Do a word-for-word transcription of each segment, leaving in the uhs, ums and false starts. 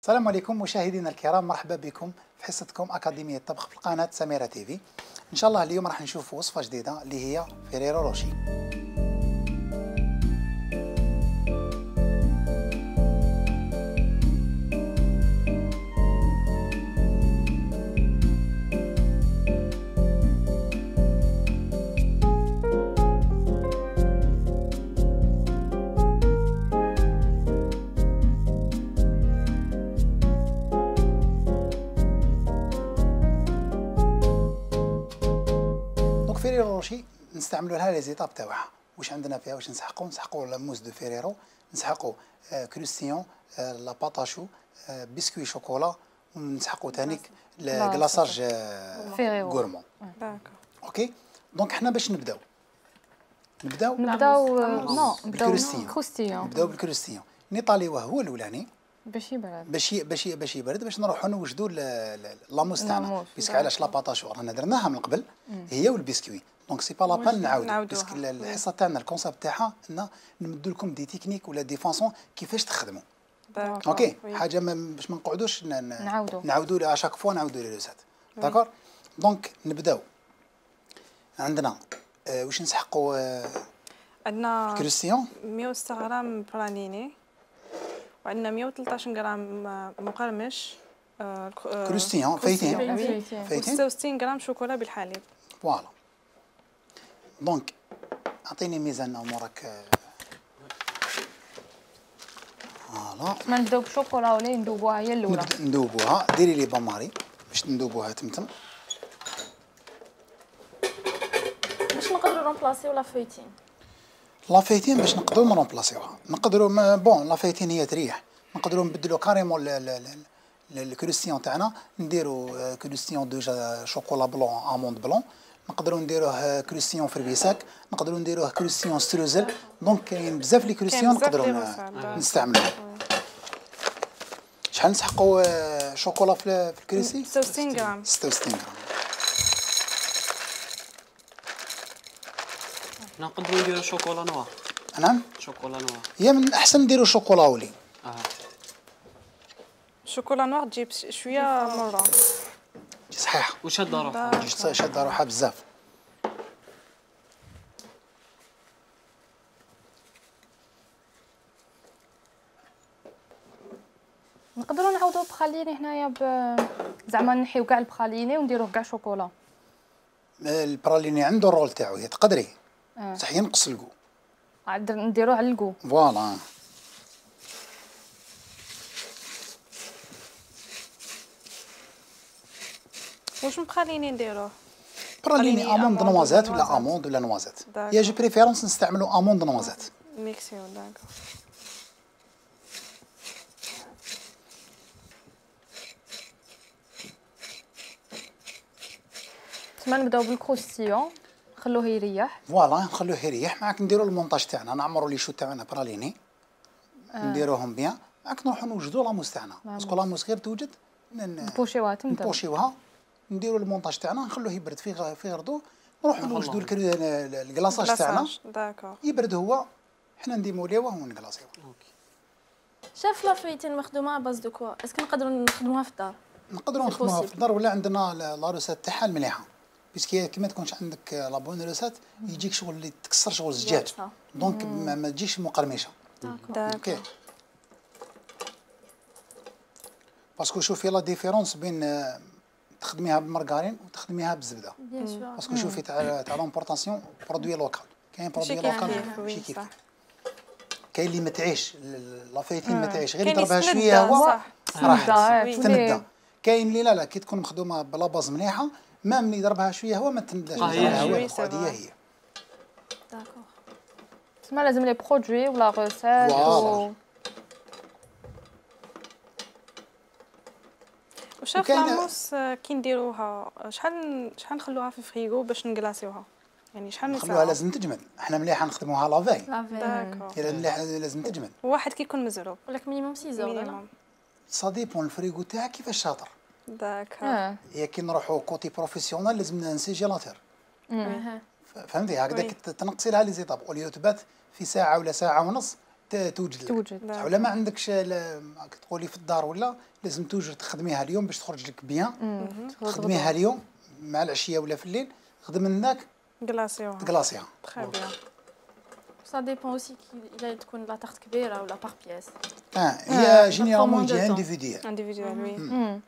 السلام عليكم مشاهدينا الكرام، مرحبا بكم في حصتكم أكاديمية الطبخ في قناة سميرة تيفي. إن شاء الله اليوم راح نشوف وصفة جديدة اللي هي فيريرو روشي. فيريرو روشي نستعملوا لها لي زيتاب تاعها. واش عندنا فيها؟ واش نسحقوا نسحقوا لا موز دو فيريرو، نسحقوا آه كروستيون، آه لا باتاشو، آه بسكوي شوكولا، ونسحقوا ثانيك كلاصاج آه غورمون. اوكي دونك حنا باش نبداو نبداو نبداو نو بالكروستيون. نبداو بالكروستيون نيطاليوه هو الاولاني باش يبرد باش باش باش يبرد باش نروحوا نوجدوا لاموس تاعنا. بيسك علاش لاباطاشو رانا درناها من قبل هي والبسكوي، دونك سي با لابان نعاودوا بيسك الحصه تاعنا الكونسيبت تاعها ان نمدوا لكم دي تكنيك ولا دي فاسون كيفاش تخدموا. اوكي حاجه باش ما نقعدوش نعاودوا نعاودوا اشاك فوا نعاودوا لي لوسات. داكور دونك نبداو. عندنا آه واش نسحقوا آه عندنا كروستيون مية وستة غرام براليني، وعندنا مية وثلاثطاش غرام مقرمش آه كروستيون فايتين فايتين وستة وستين غرام شوكولا بالحليب. فوالا دونك اعطيني ميزان امورك. فوالا ما نبداو بالشوكولا ولا ندوبوها هي الاولى؟ ندوبوها. ديري لي باماري باش ندوبوها تمتم باش نقدروا رومبلاسيو لا فايتين. لا فايتين باش نقدروا نرومبلاسيوها نقدروا بون لا فايتين هي تريح، نقدروا نبدلوا كاريمون الكروستيون تاعنا، نديروا كروستيون دوجا شوكولا بلون اموند بلون، نقدروا نديروه كروستيون فربيساك، نقدروا نديروه كروستيون ستروزل. دونك كاين بزاف لي كروستيون نقدروا نستعملوها. شحال نسحقوا شوكولا في الكريسي؟ ستة وستين غرام. ستة وستين غرام. نقدروا نديروا شوكولا نوار. نعم شوكولا نوار هي من الاحسن نديروا شوكولا ولي. اه شوكولا نوار تجيب شويه مره صحيح وشاده روحها شاده روحها بزاف. نقدروا نعوضوا بخاليني هنايا ب زعما نحيو كاع البخاليني ونديروه كاع شوكولا. البراليني عنده الرول تاعو، هي تقدري صح ينقص الكو عاد نديروه على الكو. فوالا واش مبخاليني نديروه؟ براليني اموند نوازات ولا اموند ولا نوازات. يا جو بريفيرونس نستعملوا اموند نوازات. ميكسيو داكور. تما نبداو بالكروستيون نخلوه يريح. فوالا نخلوه يريح. معاك نديروا المونتاج تاعنا، نعمروا لي شو تاعنا براليني آه. نديروهم بيان. معاك نروحوا نوجدوا لاموس تاعنا باسكو لاموس غير توجد نبوشيوها تمتم نبوشيوها نديروا المونتاج تاعنا نخلوه يبرد في في غردو، نروحوا نوجدوا الكلاصاج تاعنا. داكور يبرد هو حنا نديموليوه ونكلاصيوه. شاف لا فايتين مخدومه باز دو كوا، اسكو نقدروا نخدموها في الدار؟ نقدروا نخدموها في الدار ولا عندنا لا روسات تاعها المليحه، بيسكي كي ما تكونش عندك لا بون روسات يجيك شغل اللي تكسر شغل الزجاج، دونك ما تجيش مقرمشه. داكور باسكو شوفي لا ديفيرونس بين تخدميها بالمارغرين وتخدميها بالزبده. باسكو شوفي تاع تاع لومبورطاسيون برودوي لوكال، كاين برودوي لوكال ماشي كيف كاين اللي ما تعيش لا فايتين ما تعيش غير يضربها شويه هو راح تندى. كاين اللي لا لا كي تكون مخدومه بلا باز مليحه ما ملي يضربها شويه هو ما تنداش هو هي. داكور تسمى لازم لي برودوي ولا روسيت و وشاف لاموس كي نديروها شحال شحال نخلوها في الفريغو باش نكلاصيوها؟ يعني شحال من ساعه؟ نخلوها لازم تجمد. حنا مليحه نخدموها لافاي. داكور الا مليحه لازم تجمد. واحد كيكون مزروب ولا مينيموم ستة زور ولا سا ديبون الفريغو تاعك كيفاش شاطر. داكور هي كي نروحوا كوتي بروفيسيونال لازم نسيجيلاتور. فهمتي هكذا تنقصي لها لي زيتاب اوليو تبات في ساعه ولا ساعه ونص توجد لك. توجد. ولا ما عندكش تقولي في الدار ولا لازم توجد تخدميها اليوم باش تخرج لك بيان. تخدميها اليوم مع العشيه ولا في الليل خدم منك كلاصيوها تكلاصيها. تري بيان. سا ديبون اوسي كي تكون لا تارت كبيره ولا باغ بياس. اه هي جينيرالمون يجي انديفيديال. انديفيدوال وي.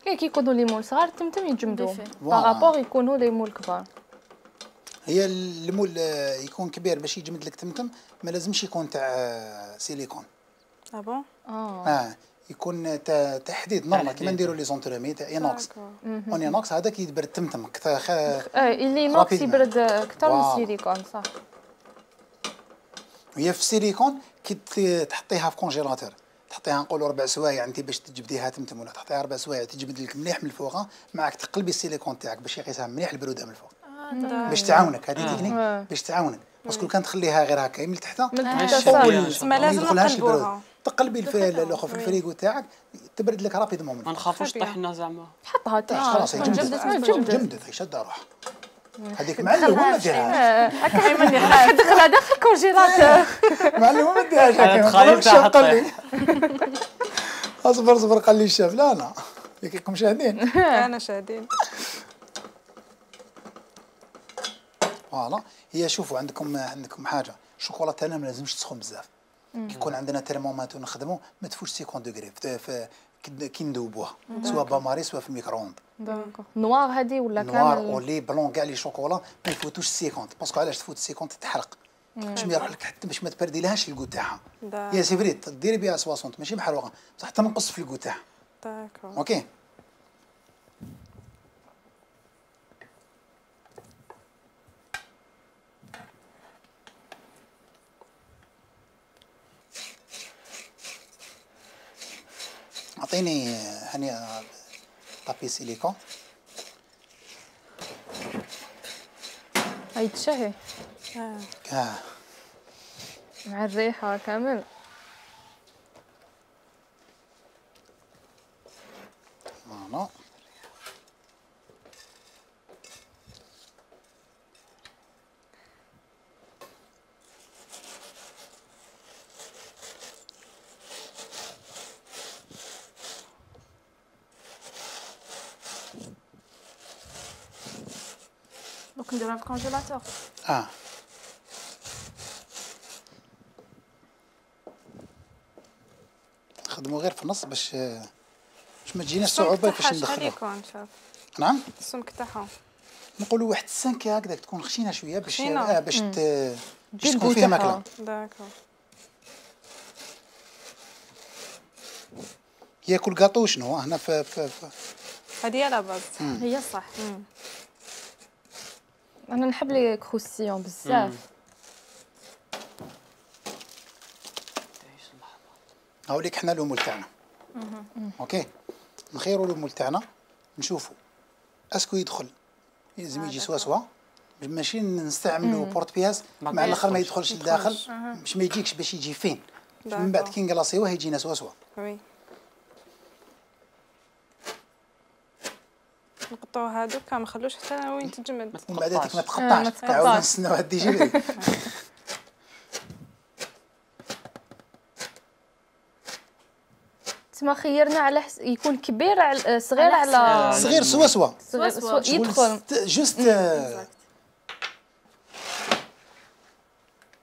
كي كيكونوا لي مول صغار تمتم يتجمدوا بارابور يكونوا لي مول كبار. هي المول يكون كبير باش يجمد لك تمتم ما لازمش يكون تاع سيليكون. اه بون اه اه يكون تاع حديد نورمال كيما نديروا لي زونترامي تاع اينوكس. اون اينوكس هذاك يدبر تمتم اكثر. اه اللي نوكس يبرد اكثر من السيليكون صح. هي في السيليكون كي تحطيها في كونجيلاتور تحطيها نقولوا ربع سوايع انت باش تجبديها تمتم ولا تحطيها ربع سوايع تجبد لك مليح من الفوق معك تقلبي السيليكون تاعك باش يقيسها مليح البروده من الفوق. باش تعاونك هذه تكنيك باش تعاونك باسكو كان تخليها غير هكا من التحت ما لازم نقلبوها تقلبي الاخر في الفريغو تاعك تبرد لك رابيدمون. ما نخافوش طيحنا زعما حطها تحت خلاص جمدت جمدت شد روحها هذيك معلم ما ديرهاش هكا ايمن يخاف دخلها داخل الكونجيلاتور معلم ما ديرهاش هكا تخيل تاع قال لي اصبر اصبر قال لي الشاف لا لا كيكم شاهدين انا شاهدين. فوالا هي شوفوا عندكم عندكم حاجه الشوكولا تاعنا ما لازمش تسخن بزاف. كي يكون عندنا ترمومتر نخدموا ما تفوتش خمسين دوغري كي ندوبوها سواء باماري سواء في الميكرووند. داكور نوار هذه ولا كامل نوار ولي بلون كاع لي شوكولا ما يفوتوش خمسين باسكو علاش تفوت خمسين تتحرق باش ما يروح لك حتى باش ما تبرديلهاش الكو تاعها. هي سي فري ديري بها ستين ماشي محروقه بصح تنقص في الكو تاعها. داكور اوكي. اعطيني هاني طابي سيليكون. هاي تشهي اه اه مع الريحه كامل. فوالا دونك نديروها في الكونجيلاتور. اه نخدموا غير في النص باش باش ما تجيناش صعوبه باش ندخلوها. نعم السمك تاعها نقولوا واحد السنكه هكذاك تكون خشينه شويه باش خشينة. آه باش ت... باش تكون فيها ماكله. داكور ياكل كاطو شنو هنا في في, في. هذه هي لا باز هي صح. انا نحب لي كروسيون بزاف. هاوليك حنا الامول تاعنا. اوكي نخيروا الامول تاعنا نشوفوا اسكو يدخل لازم يجي سوا سوا ماشي نستعملوا بورت بياس مع الاخر ما يدخلش لداخل باش ما يجيكش باش يجي فين من بعد كي نكلاصيوه يجينا سوا سوا. وي نقطعوا هذوك ما نخلوش حتى وين تجمد ومن بعد هذيك ما تقطعش تعاود نستناو هاد يجي تما خيرنا على حس... يكون كبير على صغير على صغير سوا سوا صغير سوا يدخل جوست.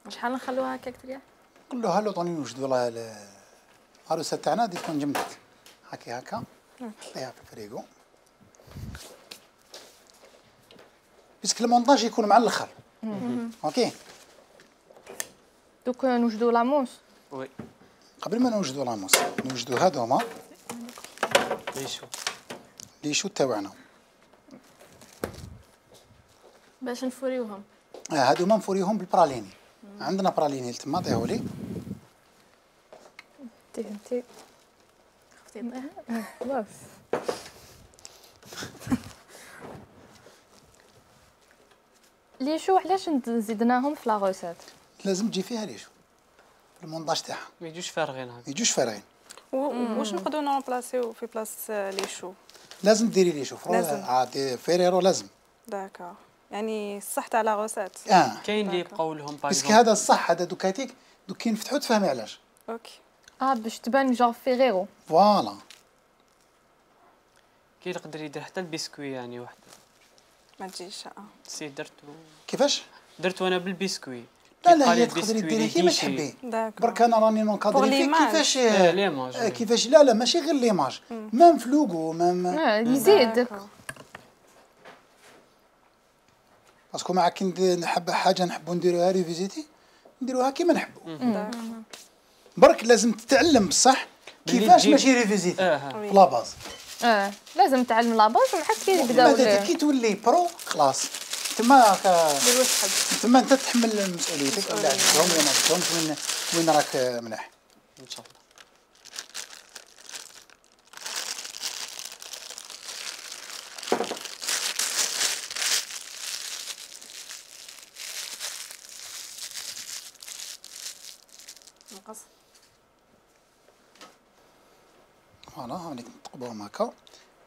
شحال نخلوها هكاك تريح؟ قول له هلو طوني نوجدوا لها العروسه تاعنا غادي تكون جمدت هاكي هكا حطيها في الفريغو باسكو المونطاج يكون مع الاخر. اوكي دوك نوجدوا لاموس. وي قبل ما نوجدوا لاموس نوجدوا هذوما ليشو ليشو تاعنا باش نفوريوهم. اه هذوما نفوريهم بالبراليني. عندنا براليني تما عطيهولي لي انت انت خفتي طيح خلاص. ليشو علاش زدناهم في لا روسيت؟ لازم تجي فيها ليشو المونطاج تاعها ما يجوش فارغين هكا ما يجوش فارغين. واش نقدروا نرومبلاسيو في بلاص لي شو؟ لازم ديري ليشو لازم. عاد فيريرو لازم. داكور يعني الصح تاع لا روسيت. اه كاين اللي يبقاو لهم باغ باسكو هذا الصح هذا دوكاتيك دوك كي نفتحو تفهمي علاش. اوكي. اه باش تبان جون فيغيرو. فوالا. كي يقدر يدير حتى البسكوي يعني وحده. ما تجيش. اه سي درتو. كيفاش؟ درتو انا بالبسكوي. لا لا هي تقدري ديريها كيما تحبي. برك انا راني نونكادري فيك كيفاش ليماج. كيفاش لا لا ماشي غير ليماج ميم في لوغو ميم يزيد. باسكو مع كي نحب حاجه نحبوا نديروها ريفيزيتي نديروها كيما نحبوا. برك لازم تتعلم بصح كيفاش ماشي ريفيزيتي في لاباز. اه لازم تعلم لاباز ومن حد كي يبداو كي تولي برو خلاص تما تما انت تحمل مسؤوليتك ولا عندهم ولا ما عندهمش وين وين راك مليح ان شاء الله. نقص. فوالا هانيك نتقبوهم هكا.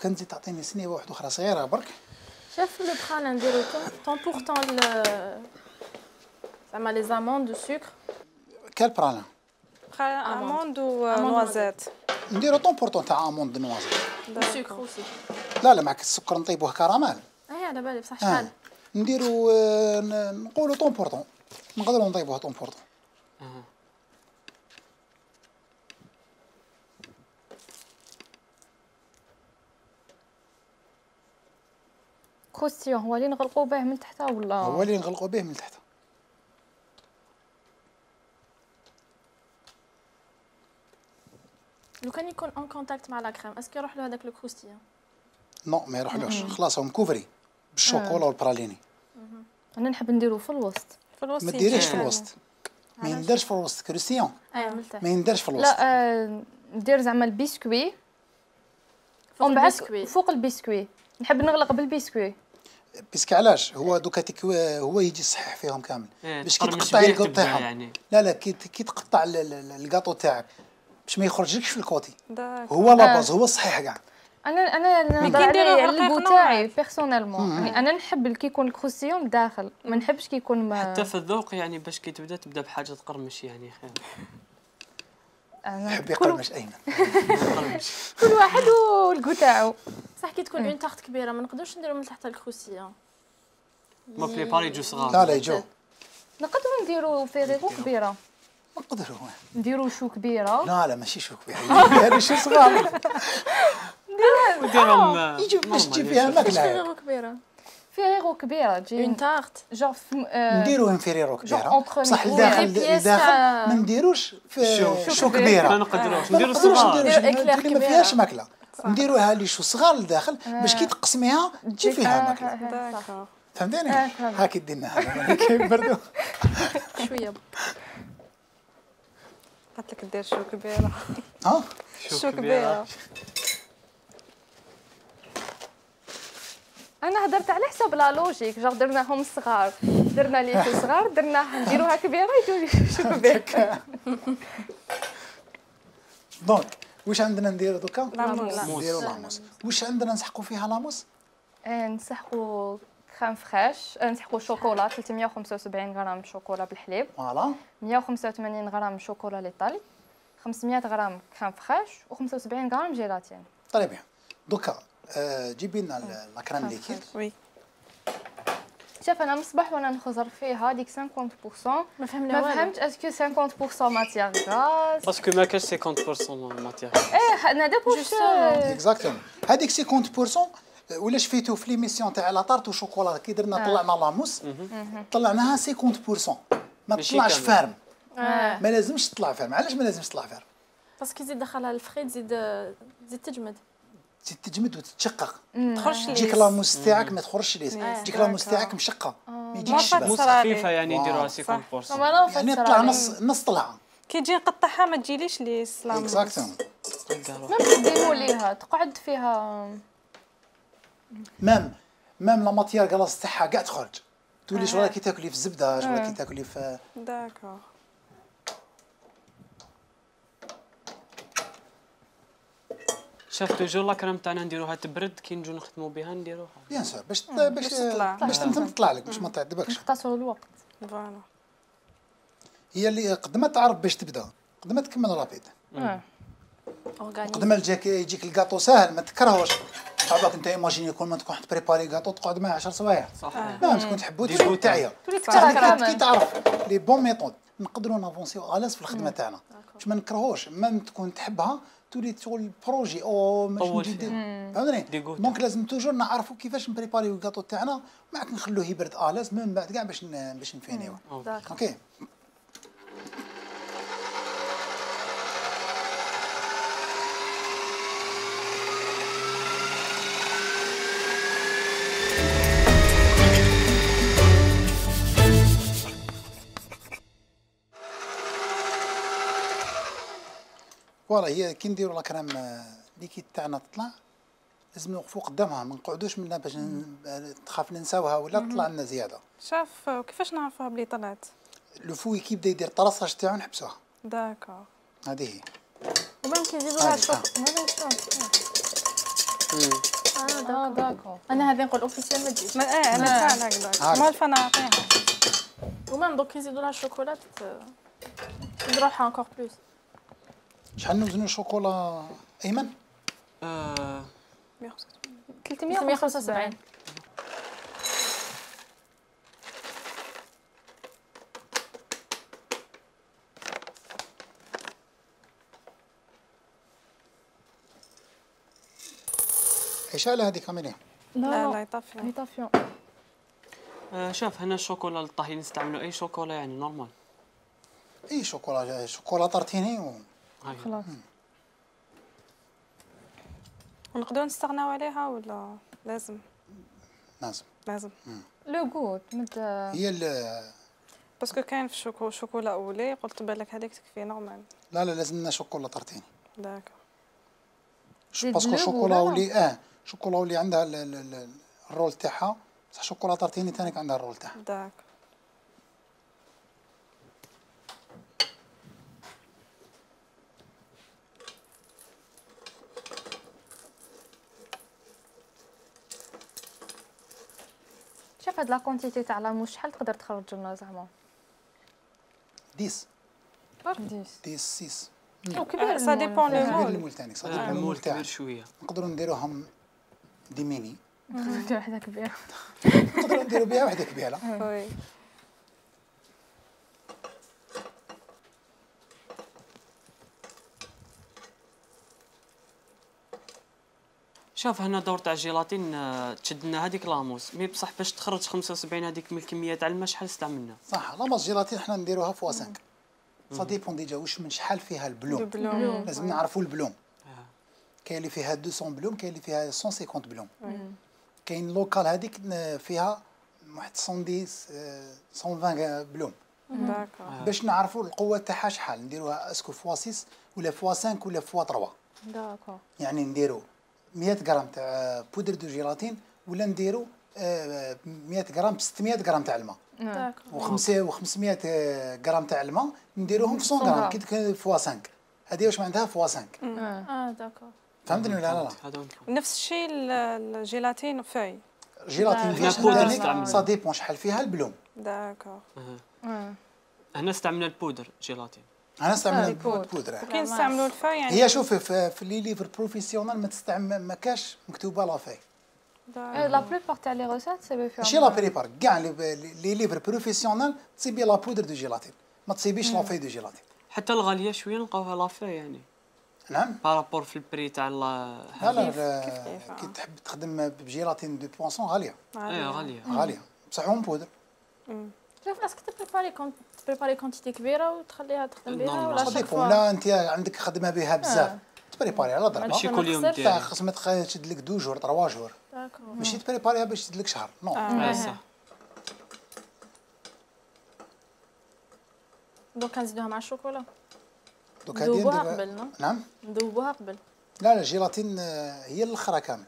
كان تزيد تعطيني سنيبه واحده اخرى صغيره برك. شاف لو بخال نديرو طون بور طون زعما لي زاموند دو سكر. كال برالا؟ بخال اموند و نوازيت. نديرو طون بور طون تاع اموند دو نوازيت. دو سكر اوسي. لا لا معك السكر نطيبوه كراميل. اي على بالي بصح شحال؟ نديرو نقولو طون بور طون. نقدروا نطيبوه طون بور طون. كروستيون هو اللي نغلقوا به من تحت ولا هو اللي نغلقوا به من تحت. لو كان يكون اون كونتاكت مع لا كريم اسكو يروح له هذاك لو كروستيون؟ نو ما يروحلوش خلاص هو مكوفري بالشوكولا والبراليني. انا نحب نديرو في الوسط. في الوسط ما ديريش في الوسط. ما يندرش في الوسط كروستيون. اي ملتاح. ما يندرش في الوسط. لا آه ندير زعما البسكوي فوق ومن بعد البسكوي. فوق البسكوي نحب نغلق بالبسكوي. بيسك علاش هو دوكا هو يجي صحيح فيهم كامل باش كي تقرمش تقطع بيه الكاطو تبدا تاعهم يعني. لا لا كي كي تقطع الكاطو تاعك باش ما يخرجلكش في الكوتي داك. هو لاباز هو صحيح كاع. انا انا نهضر على البو تاعي بيرسونيلمون يعني انا نحب كي يكون الكروسيون داخل ما نحبش كي يكون ما حتى في الذوق يعني باش كي تبدا تبدا بحاجه تقرمش يعني خير. يحب يقرمش ايمن. كل واحد والكو تاعو. صح كي تكون اون طارت كبيره ما نقدرش نديرو من تحت الكروسيون. ما في باري جو صغار. لا لا يجو. نقدروا نديرو فيريغو كبيره. نقدروا نديرو شو كبيره. لا لا ماشي شو كبيره هذه شو صغار. نديرهم يجي باش تجي فيها ماكله. فيريغو كبيره. فيريغو كبيره تجي اون طارت. جور نديرو انفيريرو كبيره entre بصح les الداخل الداخل ما نديروش شو كبيره. ما نقدروش ما نديرو نقدروش صغار. نديرو ما فيهاش ماكله. نديروها لي شو صغار لداخل باش كي تقسميها تجي فيها ماكله. داكور. فهمتيني؟ هاكي ديناها كيبردوا شويه. قالت لك دير شو كبيره. ها؟ شو كبيره. انا هضرت على حساب لا لوجيك جور درناهم صغار درنا لي شو صغار درناها نديروها كبيره يجوا شو كبير. دونك واش عندنا نديرو دوكا؟ لاموس. نديرو لاموس. واش عندنا نسحقوا فيها لاموس؟ نسحقوا كريم فريش نسحقوا شوكولا ثلاثمية وخمسة وسبعين غرام شوكولا بالحليب فوالا مية وخمسة وثمانين غرام شوكولا ليطالي خمسمية غرام كريم فريش وخمسة وسبعين غرام جيلاتين. طيب بيان دوكا جيبي لنا لا كريم ليكيد. وي. شوف انا مصباح وانا نخزر فيها ديك خمسين بالمية ما فهمنا ما فهمتش اسكو خمسين بالمية ماتيغ غاز باسكو ما كاش خمسين بالمية ماتيغ. ايه انا دابا واش اكزاكتومون هذيك خمسين بالمية ولاش فيتو في ليميسيون تاع لا طارت وشوكولا كي درنا طلعنا لاموس طلعناها خمسين بالمية ما تطلعش فارم. ما لازمش تطلع فارم. علاش ما لازمش تطلع فارم؟ باسكو تزيد دخلها الفخيد تزيد تزيد تجمد. تزيد تجمد وتتشقق. تخرج لي. تجيك لاموس تاعك ما تخرجش ليس. تجيك لاموس تاعك مشقه ما يجيكش ما بس. موس خفيفه يعني يديروها خمسين بالمية. يعني طلع نص نص طلعه. كي تجي نقطعها ما تجيليش لي سلام. اكزاكتومون. ما تديروا ليها تقعد فيها مام مام لا ماتيير كلاص تاعها كاع تخرج. تولي شغل كي تاكلي في الزبده شغل كي تاكلي في. داكور. شاف توجور لا كريم تاعنا نديروها تبرد كي نجو نخدموا بها نديروها. بيان سور باش باش تطلع. باش تطلع لك باش ما تعذبكش. نختصروا الوقت. فوالا. هي اللي قد ما تعرف باش تبدا قد ما تكمل رابيد. قد ما يجيك يجيك الكاطو ساهل ما تكرهوش. صعبك انت ايماجيني كل ما تكون بريباري كاطو تقعد معاه عشر سوايع. صح. لا تكون تحبو تولي تعيا. كي تعرف لي بون ميثود نقدروا نافونسيو الاس في الخدمه تاعنا. باش ما نكرهوش ما تكون تحبها تولي تقول بروجي او ماشي جديد. فهمتني؟ دونك لازم توجور نعرفوا كيفاش نبريباريو الكاطو تاعنا معك نخلوه يبرد الاس من بعد كاع باش باش نفينيو. اوكي. فوالا هي كي نديرو لا كريم ليكيد تاعنا تطلع لازم نوقفو قدامها ما نقعدوش منها باش تخاف ننساوها ولا تطلع لنا زياده. شاف كيفاش نعرفوها بلي طلعت؟ لو فوي كي بدا يدير طراساج تاعو نحبسوها. داكور. هذه هي. ومن كيزيدوا لها الشوك هذا شلون؟ اه داكور. انا هذه نقول اوفيسيال ما تجيش. اه انا فعلا هكذا. ما الفا نعطيها. ومن دوك يزيدوا لها الشوكولات تزيد روحها انكور بلوس. شحال نوزنوا الشوكولا ايمن؟ آه ثلاثمية وخمسة وسبعين. ايش على هذه كاميرا؟ لا لا يطفي يطفيون. آه شوف هنا الشوكولا للطهي نستعملوا اي شوكولا يعني نورمال. اي شوكولا شوكولا طرتيني و خلاص. ونقدروا نستغناو عليها ولا لازم؟ لازم لازم. لو غوت مت هي ال باسكو كاين في الشوكو شوكولا اولي قلت بالك هذيك تكفي نورمال. لا لا لازم لنا شوكولا طرتيني. داكور. باسكو شوكولا اولي اه شوكولا اولي عندها الرول تاعها بصح شوكولا طرتيني ثاني عندها الرول تاعها. داكور. شوف هاد لا كونتيتي تاع لاموس شحال تقدر تخرج لنا زعما؟ ديس ديس ديس سيس. كبير سا ديبون لو كبير مول. المول ثاني سا ديبون المول تاعك. شويه. نقدروا نديروهم دي ميني. وحده كبيره. نقدروا نديروا بها وحده كبيره. وي. شوف هنا دور تاع الجيلاتين تشد لنا هذيك لاموس مي بصح باش تخرج خمسة وسبعين هذيك من الكميه تاع الماء شحال استعملنا؟ صح لاموس جيلاتين حنا نديروها فوا خمسة. سا ديبون ديجا واش من شحال فيها البلوم. لازم نعرفوا البلوم. كاين اللي فيها مئتين بلوم كاين اللي فيها مئة وخمسين بلوم. كاين لوكال هذيك فيها واحد مية وعشرين بلوم. داكور. باش نعرفوا القوه تاعها شحال نديروها اسكو فوا ستة ولا فوا خمسة ولا فوا ثلاثة. داكور. يعني نديروا مئة غرام تاع بودر دو جيلاتين ولا نديروا مئة غرام ب ستمية غرام تاع الماء. داكور. و500 غرام تاع الماء نديروهم في مية غرام كي فوا خمسة. هذه واش معناتها فوا خمسة. اه داكور. فهمتني ولا لا؟ نفس الشيء الجيلاتين فاي. جيلاتين فيها سا ديبون شحال فيها البلوم. داكور. هنا استعملنا البودر جيلاتين. انا استعمل البودر. كي نستعملوا الفاي يعني هي شوفي في, في لي ليفر بروفيسيونال ما تستعمل ما كاش مكتوبه لا فاي. لا بلوبار تاع لي ريسيت سي فيها ماشي لا بريبار كاع لي ليفر بروفيسيونال تصيبي لا بودر دو جيلاتين ما تصيبيش لا فاي دو جيلاتين. حتى الغاليه شويه نلقاوها لا فاي يعني. نعم بارابور في البري تاع لا لا كي تحب تخدم بجيلاتين دو بوانسون غاليه. اي غاليه غاليه بصح اون بودر. شوف اسكو تبريباري كونت تبريباري كونتيتي كبيره وتخليها تخدم بها ولا شاك فوا لا انت عندك خدمه بها بزاف تبريباري على ضربه ماشي كل يوم دير خاص ما تشد لك دو جور ثلاثة جور ماشي تبريباريها باش تشد لك شهر نو اه صح. دوك نزيدوها مع الشوكولا دوك ندوبوها قبل. نعم ندوبوها قبل. لا لا الجيلاتين هي الاخرى كامل.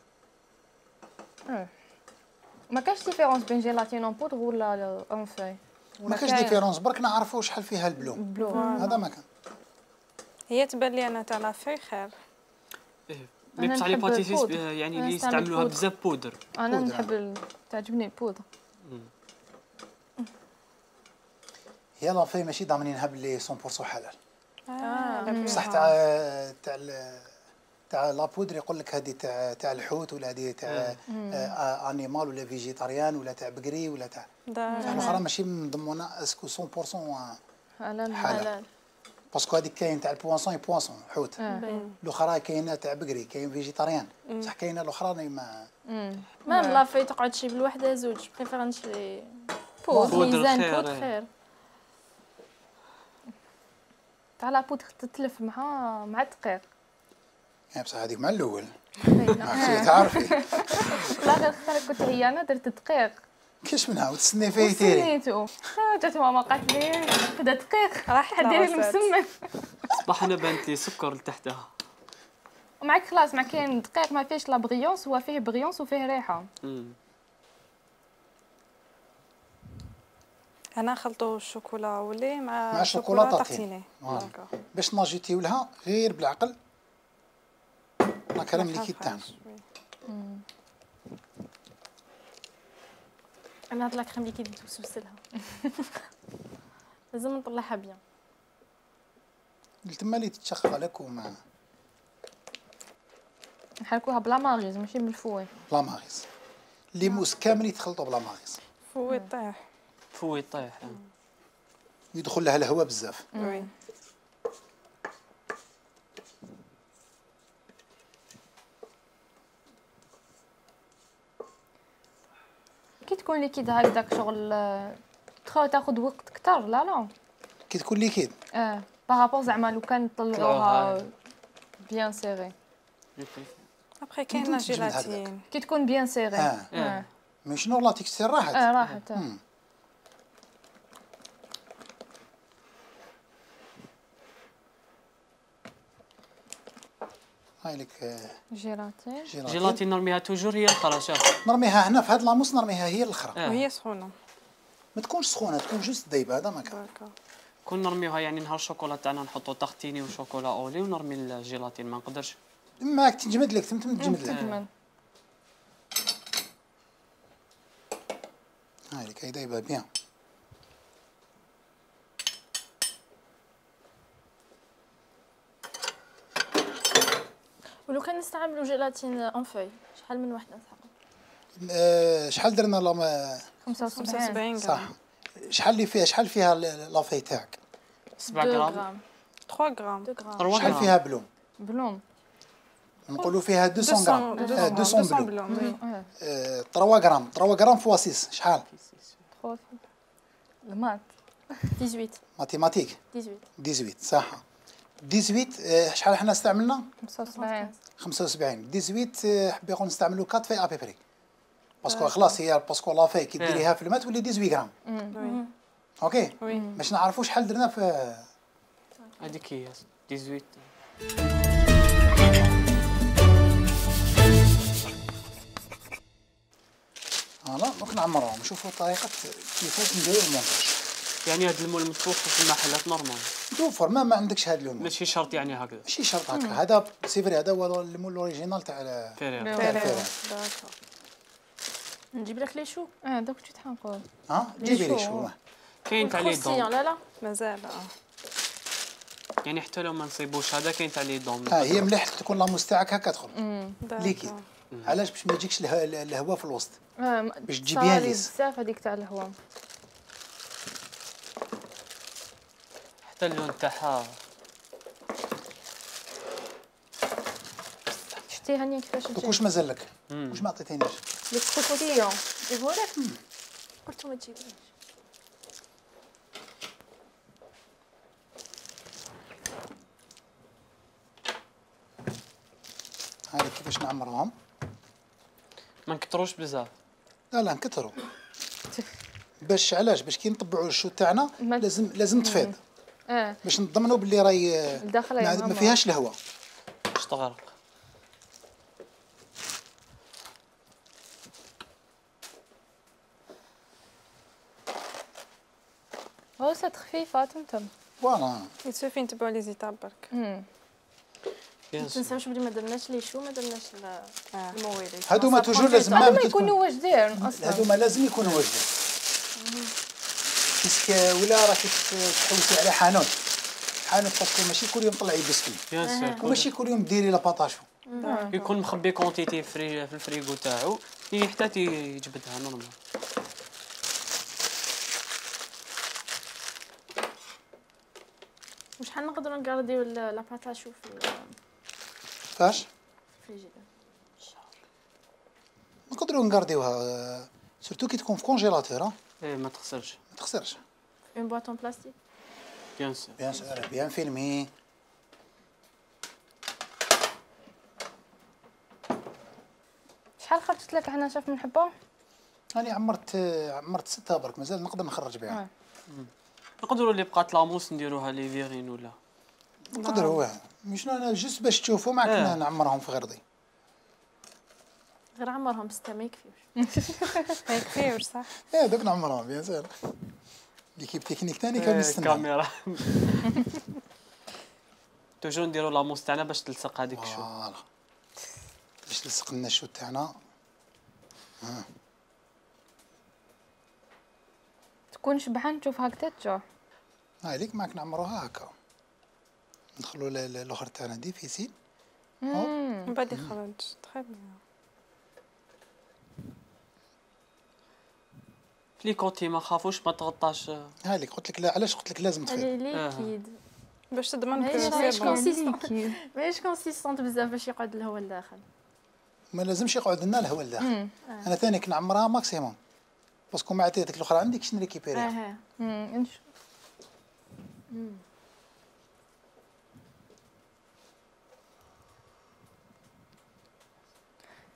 ما كاش ديفيرونس بين جيلاتين اون بودر ولا اون فاي؟ ما كاش ديفيرونس برك نعرفوا شحال فيها البلوم. بلوم هذا ما كان. هي تبان لي انا تاع لا فاي خير. ايه مي بصح لي باتيسيس يعني اللي يستعملوها بزاف بودر. انا نحب تعجبني البودر. هي لافي ماشي ضامنينها باللي مية بالمية حلال. اه بصح تاع تاع تاع لابودر يقول لك هذه تاع تاع الحوت ولا هذه تاع انيمال ولا فيجيتاريان ولا تاع بقري ولا تاع تاع الاخرى ماشي مضمونه اسكو مية بالمية حلال حلال. باسكو هذيك كاين تاع البوانسون بوانسون حوت، الاخرى كاينه تاع بقري، كاين فيجيتاريان، بصح كاينه الاخرى ما مام لافي تقعد شي بالوحده زوج بريفير نشري بودر ميزان بودر خير. تاع لابودر تتلف مع مع الدقيق. يعني بصح هذيك مع الاول ما تعرفي. لا غير خير كنت هي انا درت دقيق كاش منها وتسني فيه تيري. سنيتو جات ماما قالت لي بدا دقيق راح ديري المسمن. صباح انا بانت لي سكر لتحتها. ومعك خلاص مع كاين دقيق ما فيهش لا بغيونس، هو فيه بغيونس وفيه ريحه. انا خلطوا الشوكولا ولي مع مع الشوكولا طاطيني باش ناجيتيو لها غير بالعقل لا كريم ليكيد تاعنا. انا هاد لا كريم ليكيد نتوسوسلها لازم نطلعها بيان. تما اللي تتشخلك وما نحركوها بلا ماغيز ماشي بالفوي. بلا ماغيز اللي موس كامل يتخلطوا بلا ماغيز. فوي طيح فوي طيح يدخل لها الهواء بزاف. وي كي تكون ليكيد هكذاك شغل تخاو تاخذ وقت كتر. لا لا كي تكون ليكيد اه بارابور زعما لو كان نطلعوها بيان سيغي. ابخي كاين لا جيلاتين كي تكون بيان سيغي. اه, آه. مي شنو لا تكستير راحت. اه راحت. آه. هاي لك جيلاتين. جيلاتين نرميها توجور هي الاخرى. شاف نرميها هنا في هاد لاموس نرميها هي الاخرى. آه. وهي سخونه ما تكونش سخونه تكون جوست دايبه. هذا ما كان كون نرميوها يعني نهار الشوكولا تاعنا نحطوا تختيني وشوكولا اولي ونرمي الجيلاتين ما نقدرش. ماك تنجمد لك تم تنجمد لك. هاي لك هي دايبه بيان. ولو كان نستعملوا جيلاتين اون فوي شحال من وحده نسحقوا؟ أه شحال درنا لا خمسة وسبعين صح. شحال اللي فيها شحال فيها لافي تاعك؟ سبعة غرام ثلاثة غرام شحال فيها بلوم؟ بلوم نقولوا فيها مئتين غرام. مئتين بلوم. اه ثلاثة غرام ثلاثة غرام فوا ستة شحال؟ المات ثمانية عشر ماتيماتيك ثمانية عشر ثمانية عشر صح. ثمانية عشر شحال حنا استعملنا؟ خمسة وسبعين خمسة وسبعين. ثمانية عشر حبي يقول نستعملوا أربعة في ابيبري باسكو خلاص هي باسكو لافي كي ديريها في الماء تولي ثمانية عشر غرام. اوكي باش نعرفوا شحال درنا في هذيك هي ثمانية عشر. فوالا دونك نعمروهم نشوفوا طريقه كيفاش نديروا المونتاج. يعني هذا المول متفوق في المحلات نورمال توفر ما ما عندكش هذا اللون ماشي شرط يعني هكذا ماشي شرط هكا. هذا سيفري هذا هو المول الاوريجينال تاع فيريرا. فيريرا. نجيب لك لي شو. اه دوك كنت حنقول ها جيبي لي شو كاين تاع لي دون. لا لا مازال اه يعني حتى لو ما نصيبوش هذا كاين تاع لي دون. اه هي مليح تكون لاموس تاعك هكا تدخل ليكيد. علاش باش ما يجيكش الهواء في الوسط باش تجيبيها ليس بزاف هذيك تاع الهواء. حتى اللون تاعها شتي هانيه كيفاش تجي. واش مازال لك؟ واش ما عطيتينيش؟ لي كروكوديون جيبوا لك قلت ما تجيبوش. هاي كيفاش نعمروهم؟ ما نكتروش بزاف. لا لا نكثروا باش علاش باش كي نطبعوا الشو تاعنا لازم لازم تفيض اه باش نضمنوا باللي راهي داخله ما فيهاش الهواء باش تغرق. هو سات خفيفه تمتم. فوالا يسوفي نتبعوا لي زيتاب برك. ما تنساوش بلي ما درناش لي شو ما درناش الموالد. هادوما توجور لازم ما يكونوا واجدين اصلا. هادوما لازم يكونوا واجدين. باسكو ولا راكي تحوسي على حانوت حانوت باسكو ماشي كل يوم طلعي بسكوي بيان سور وماشي كل يوم ديري لاباطاشو يكون مخبي كونتيتي فري في الفريغو تاعو حتى تيجبدها نورمال. وشحال نقدروا نقارديو لاباطاشو في فاش الفريجيدير؟ نقدروا نقارديوها سورتو كي تكون في كونجيلاتور ايه ما تخسرش ما تخسرش. اون بواطون بلاستيك. بيان سور بيان سور بيان فيلمي. شحال خرجت لك هنا شاف من حبه؟ انا عمرت عمرت ستة برك مازال نقدر نخرج بها. نقدروا اللي بقات لاموس نديروها لي فيغين ولا نقدروا واه مش انا جست باش تشوفوا معك آه. نعمرهم في غردي غير عمرهم ستة ما يكفيوش. ما يكفيوش صح. ايه دوك نعمرهم بيان سور. ليكيب تكنيك ثاني كان نستنى كاميرا توجور نديروا لاموس تاعنا باش تلصق هذيك الشو فوالا باش تلصق لنا الشو تاعنا. ها تكون شبعان تشوف هكذا تجوع. هاذيك معك نعمروها هكا ندخلوا الاخر تاعنا ديفيسيل من بعد يخرج تخي بيان. لي كونتي ما خافوش ما تغطاش. هاذيك قلت لك لا علاش قلت لك لازم تفيض هذه ليكيد باش تضمن ماهيش كو كونسيستونت ماهيش كونسيستونت بزاف باش يقعد الهواء لداخل. ما لازمش يقعد لنا الهواء لداخل. انا ثاني كنعمرها ماكسيموم باسكو ما عطيتك الاخرى عندي كيش نريكيبيريها. اها امم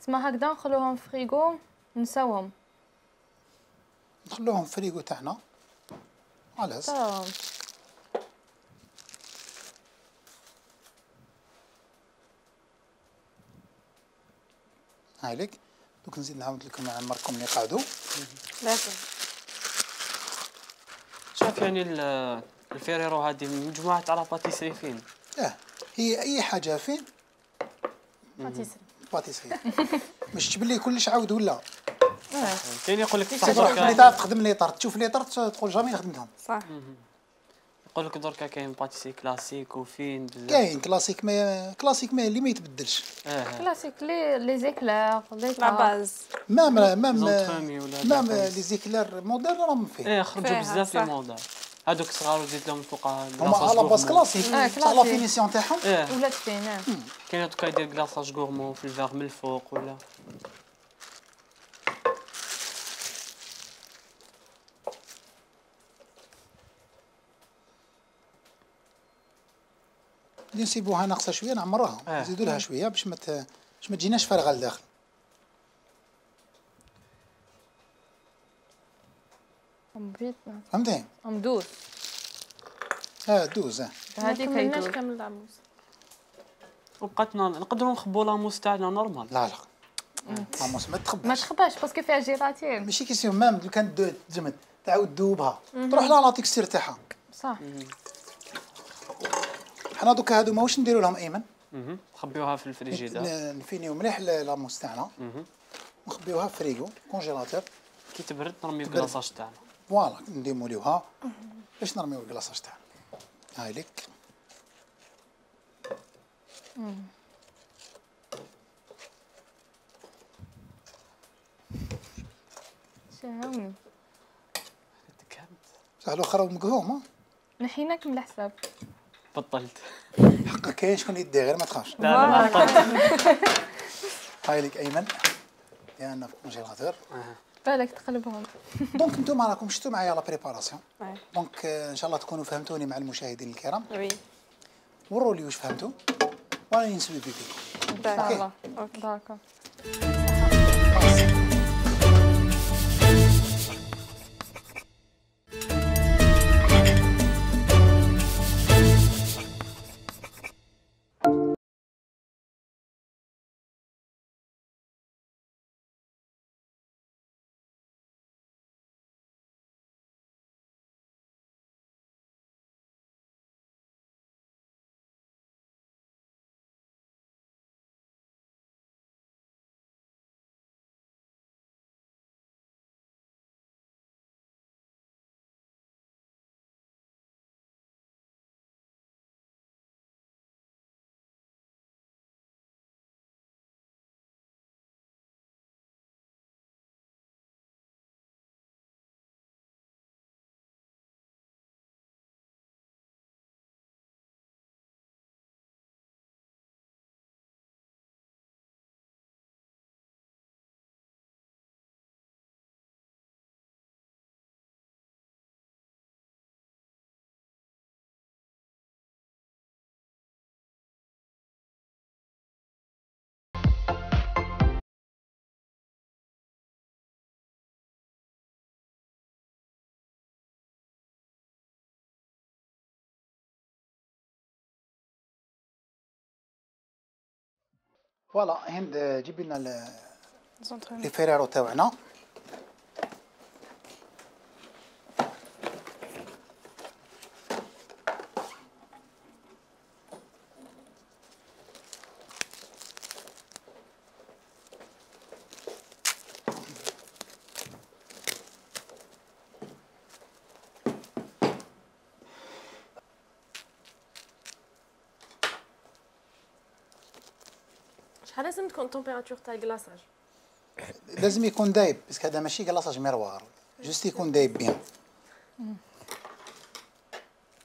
تسمى هكذا نخلوهم في فريغو نساوهم. نخلوهم في فريغو تاعنا علاش تمام. هايليك دوك نزيد نعاود لكم نعمركم اللي قعدوا. لازم شوف يعني الفيريرو هذه مجموعه تاع لاباتيسري فين. اه هي اي حاجه فين باتيسري باتيسري باش تجيب لي كلش عاود ولا كاين يقول لك صح اللي تعرف تخدم لي طرت تشوف لي طرت تقول جامي خدمتهم. صح. يقول لك دركا كاين باتيسري كلاسيك وفين بزاف كاين كلاسيك ما كلاسيك ما اللي ما يتبدلش. اه كلاسيك لي لي زيكلير لي لا باز مام مام زونترومي ولا مام لي زيكلير موديل راهم فيه. ايه خرجوا فيها، بزاف لي صح. موديل هذوك صغار وزيد لهم فوق هما على باس كلاسيك آه، صح لا كلاسيك. فينيسيون تاعهم. ايه ولات فين. كاين دوكا يدير كلاصاج غورمون في الفاغ من الفوق ولا اللي نسيبوها ناقصه شويه نعمروها آه. نزيدوا لها شويه باش ما ت- باش ما تجيناش فارغه لداخل. ام بيت فهمتي؟ ام دوز اه دوز اه هذيك ما كملناش هيدوز. كامل العموس. وبقاتنا نقدروا نخبوا لاموس تاعنا نورمال. لا لا ماموس ما ما تخباش تخباش باسكو فيها جيلاتين. ماشي كيسيون مام لو كانت دو- تجمد تعاود تذوبها تروح لها لا تكستير تاعها. صح. حنا دوكا هادو ماهوش نديرو لهم ايمن اها نخبيوها في الفريجيدير. ن- نفينيو مليح لاموس تاعنا اها ونخبيوها في فريغو كونجيلاتور. كي تبرد نرميو تبرد. كلاصاج تاعنا. فوالا نديموليوها باش نرميو الكلاصاج تاعنا. هاي ليك شاهوني صح الاخر مقهوم ها نحيناك من الحساب. بطلت. حقا كاين شكون يدي غير ما تخافش. لا لا بطلت. هاي ليك ايمن لان في كونجيلاتور. بالك تقلبهم. دونك نتوما راكم شفتوا معايا لا بريباراسيون. وي دونك آه، ان شاء الله تكونوا فهمتوني مع المشاهدين الكرام. وي وروا لي واش فهمتوا وانا نسوي بيكم. داكور اوكي داكور. فوالا هند جيبي لنا لي فيريرو تاعنا. شحال لازم تكون التمبيراتور تاع الكلاصاج؟ لازم يكون دايب باسكو هذا ماشي كلاصاج ميروار، جوست يكون دايب بيان.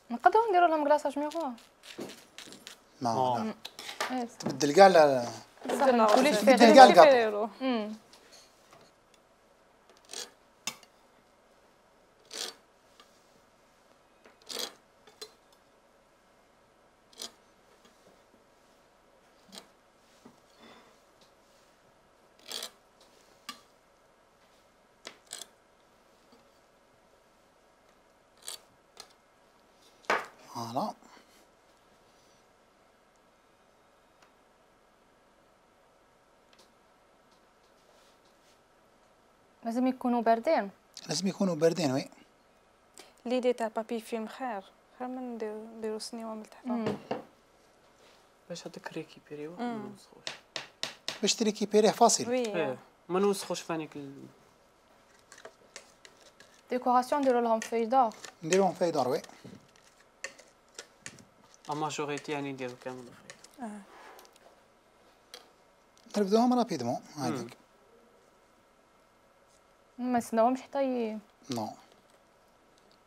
نقدروا نديروا لهم كلاصاج ميروار. ما تبدل كاع كلش تبدل كاع الكاطو. فوالا لازم يكونوا باردين. لازم يكونوا باردين. وي ليدي تاع بابي فيلم خير خير من نديرو نديرو سنيوه من تحت باش هذاك ريكيبيريوه ما نوسخوش. باش تريكيبيريه فاصيل. وي ما نوسخوش فانيك ديكوراسيون نديروا لهم فاي دور. نديروهم فاي دور. وي ا ماجوريتي يعني نديرو كامل فاي. اه نبداوهم رابيدمون هذيك. ما نستناوهمش حتى ي... نو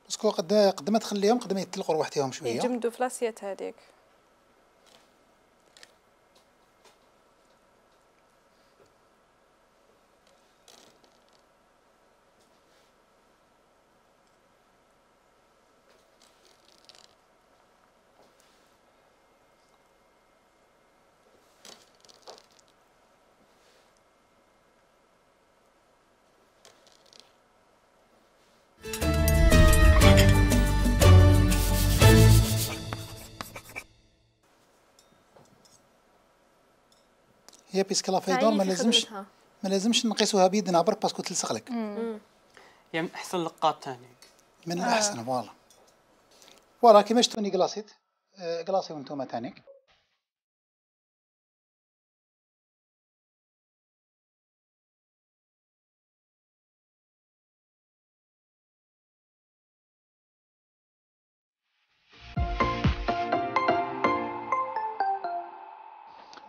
باسكو قد قد ما تخليهم قد ما يتلقوا رواحتهم شويه. يجمدوا في لاسيات هذيك. هي بيسك لا فايدور ما لازمش ما لازمش نقيسوها بيدنا برك باسكو تلصق لك. يعني احسن لقاط ثاني من الاحسن. فوالا فوالا كيما شفتوني كلاصيت كلاصيو نتوما ثانيك.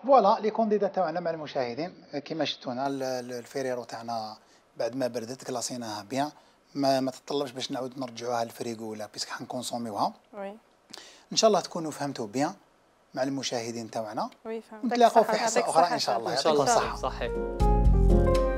فوالا لي كونديدا تاعنا مع المشاهدين كيما شفتونا الفيريرو تاعنا بعد ما بردت كلاصيناها بيان. ما ما تطلبش باش نعاود نرجعوها للفريغو ولا بيسك حنكونسوميوها. وي ان شاء الله تكونوا فهمتوا بيان مع المشاهدين تاعنا. وي فهمت. نتلاقاو في حصه اخرى ان شاء الله. ان شاء الله. يعطيكم الصحه. صحيح.